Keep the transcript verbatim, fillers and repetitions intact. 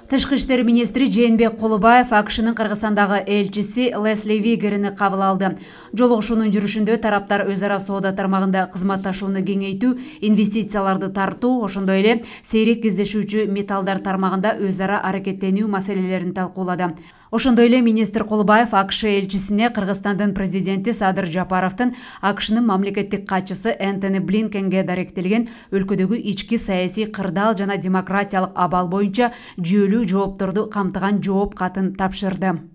Тышкы иштер министри Жээнбек Кулубаев АКШнын Кыргызстандагы элчиси Лесли Вигерини кабыл алды. Жолугушуунун жүрүшүндө тараптар өз ара соода тармагында кызматташууну кеңейтүү, инвестицияларды тартуу, ошондой эле сейрек кездешүүчү металлдар тармагында өз ара аракеттенүү маселелерин талкуулады. Ошондой эле министр Кулубаев АКШ элчисине Кыргызстандын президенти Садыр Жапаровдун АКШнын мамлекеттик катчысы Энтони Блинкенге даректелген өлкөдөгү ички саясий кырдаал жана демократиялык абал боюнча жүйөлүү жоопторду камтыган жооп катын тапшырды.